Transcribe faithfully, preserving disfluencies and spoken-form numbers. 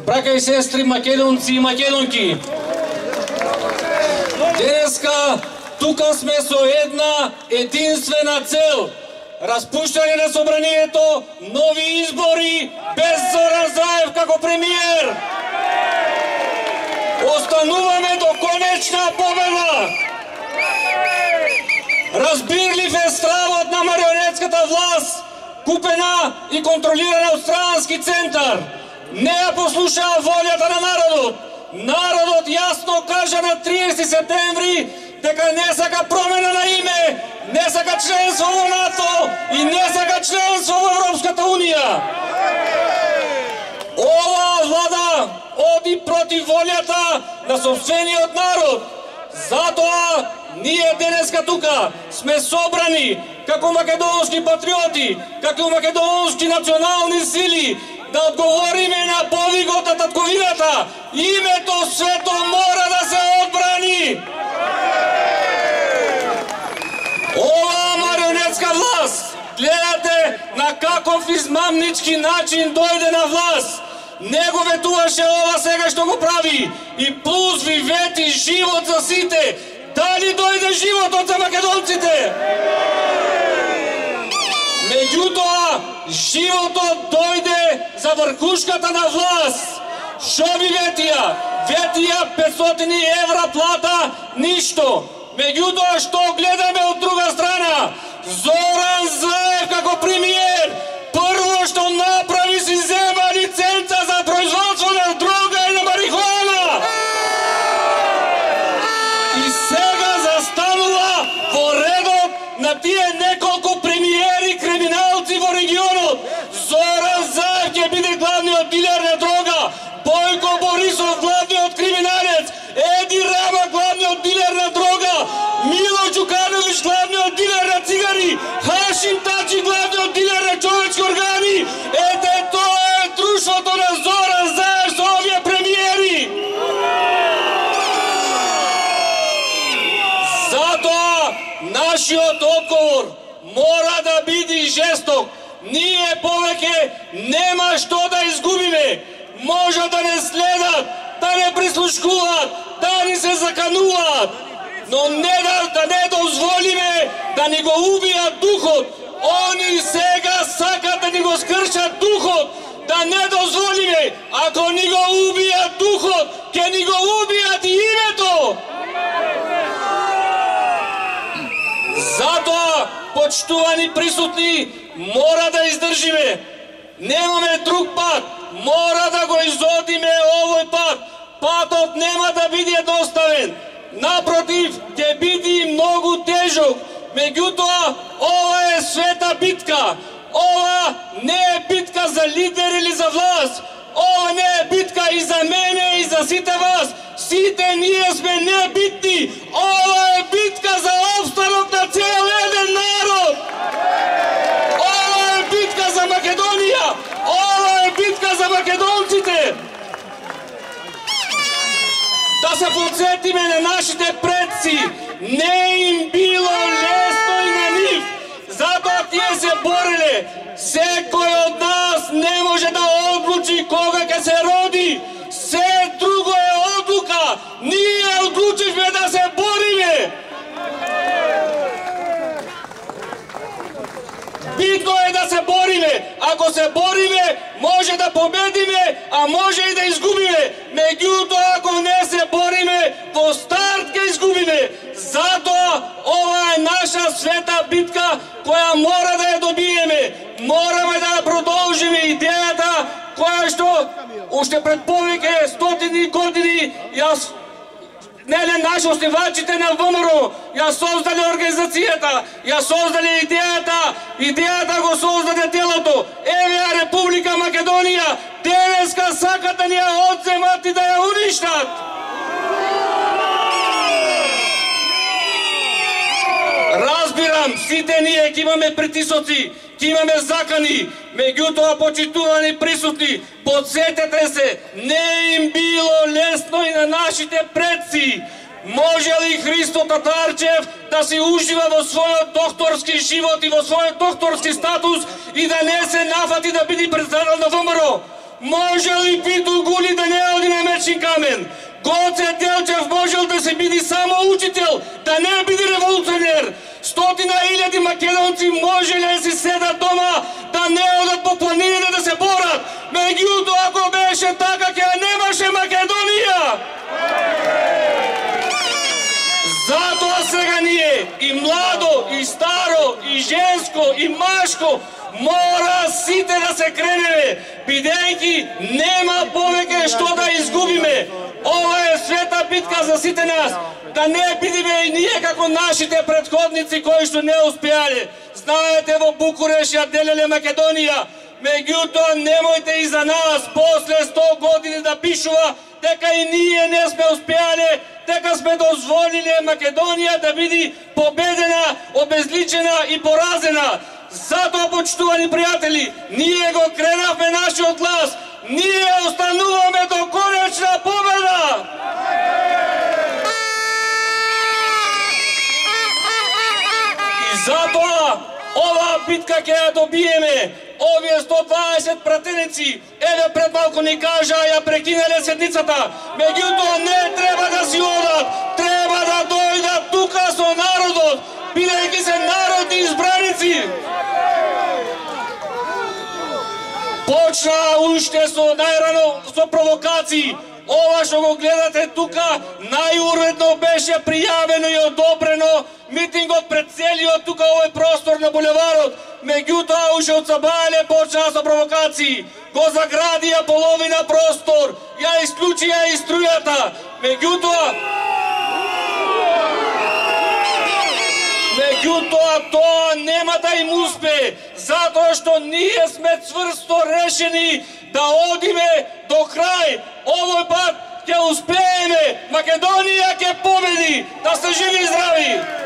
браќа и сестри македонци и македонки, денеска тука сме со една единствена цел: распуштање на собранието, нови избори без Зоран Заев како премиер. Остануваме до конечна победа. Разбирлив е стравот на марионетската власт, купена и контролирана од странски центар. Не ја послушаа волјата на народот. Народот јасно кажа на триесети септември дека не сака промена на име, не сака членство во НАТО и не сака членство во Европската унија. Ова влада оди против волјата на сопствениот народ. Затоа ние денеска тука сме собрани како македонски патриоти, како македонски национални сили да одговориме на повикот на татковината. Името свето мора да се одбрани. Ова марионетска власт, гледате на каков измамнички начин дојде на власт. Не го ветуваше ова сега што го прави. И плюс ви вети живот за сите. Дали дојде животот за македонците? Меѓутоа, животот дојде за врхушката на власт. Шо ви ветија? Ветија петстотини евра плата, ништо. Меѓутоа, што гледаме од друга страна? Зоран Заев како премиер, прво што направи си зема лиценца за производство на дрога и на марихуана. И сега застанува во редот на тие неколку премиери криминалци во регионот. Зоран Заев ќе биде главниот дилер на дрога, Бојко Борисов главниот криминалец, Еди Рама главниот дилер на дрога, Мило Џукановиќ главниот дилер на цигари, Хашим Тачи главниот дилер на човечки органи. Ете тоа е друштвото на Зоран Заев со овие премиери. Затоа нашиот одговор мора да биде жесток. Ние повеќе нема што да изгубиме. Може да не следат, да не прислушкуваат, да ни се закануваат, но не да, да не дозволиме да ни го убијат духот. Они сега сакат да ни го скршат духот. Да не дозволиме. Ако ни го убијат духот, ќе ни го убијат и името. Затоа, почитувани присутни, мора да издржиме. Немаме друг пат. Мора да го изодиме овој пат. Патот нема да биде едноставен. Напротив, ќе биде многу тежок. Меѓутоа, ова е света битка. Ова не е битка за лидер или за власт. Ова не е битка и за мене и за сите вас. Сите ние сме небитни. Ова е битка за опстанок на цел еден народ. Ова е битка за Македонија. Ова е битка за македонците. Да се подсетиме на нашите предци. Не им било лесно и на нив. Затоа тие се бореле. Секој од нас не може да одлучи кога ќе се роди. Се друго е одлука. Ние одлучивме да се бориме. Битно е да се бориме. Ако се бориме, може да победиме, а може и да изгубиме. Меѓутоа, ако не се бориме, во старт ќе изгубиме. Затоа, ова е наша света битка која мора да ја добиеме. Мораме да ја продолжиме идејата која што уште пред повеќе стотини години јас Неле, наши основачите на ВМРО ја создале организацијата, ја создале идејата, идејата го создаде телото. Еве ја Република Македонија, денеска сакат да ни ја одземат и да ја уништат. Разбирам, сите ние ќе имаме притисоци, ќе имаме закани, меѓутоа, почитувани присутни, подсетете се, не им било лесно и на нашите предци. Може ли Христо Татарчев да се ужива во својот докторски живот и во својот докторски статус и да не се нафати да биде председател на ВМРО? Може ли Питу Гули да не оди на мечен камен? Гоце Делчев можел да се биде само учител, да не биде револуционер. Стотина илјади македонци можеле да си седат дома, да не одат по планините да се борат. Меѓутоа, ако беше така, ќе немаше Македонија. Затоа сега ние, и младо, и старо, и женско, и машко, мора сите да се кренеме, бидејќи нема повеќе што да изгубиме. Ова е света битка за сите нас. Да не бидеме и ние како нашите претходници кои што не успеале. Знаете, во Букуреш ја делеле Македонија. Меѓутоа, немојте и за нас после сто години да пишува дека и ние не сме успеале, дека сме дозволиле Македонија да биде победена, обезличена и поразена. Затоа, почитувани пријатели, ние го кренавме нашиот глас. Ние остануваме до конечна победа! И затоа, оваа битка ќе ја добиеме. Овие сто дваесет пратеници, еве пред малку ни кажа, ја прекинале седницата. Меѓутоа, не треба да си одат, треба да дојдат тука со народот, бидејќи се народни избраници. Почна уште со најрано со провокации. Ова што го гледате тука, најуредно беше пријавено и одобрено митингот пред целиот тука овој простор на булеварот. Меѓутоа, уште од сабајле почнаа со провокации. Го заградија половина простор, ја исклучија и струјата. Меѓутоа, Меѓутоа, тоа нема да им успе, затоа што ние сме цврсто решени да одиме до крај. Овој пат ќе успееме, Македонија ќе победи. Да сте живи и здрави!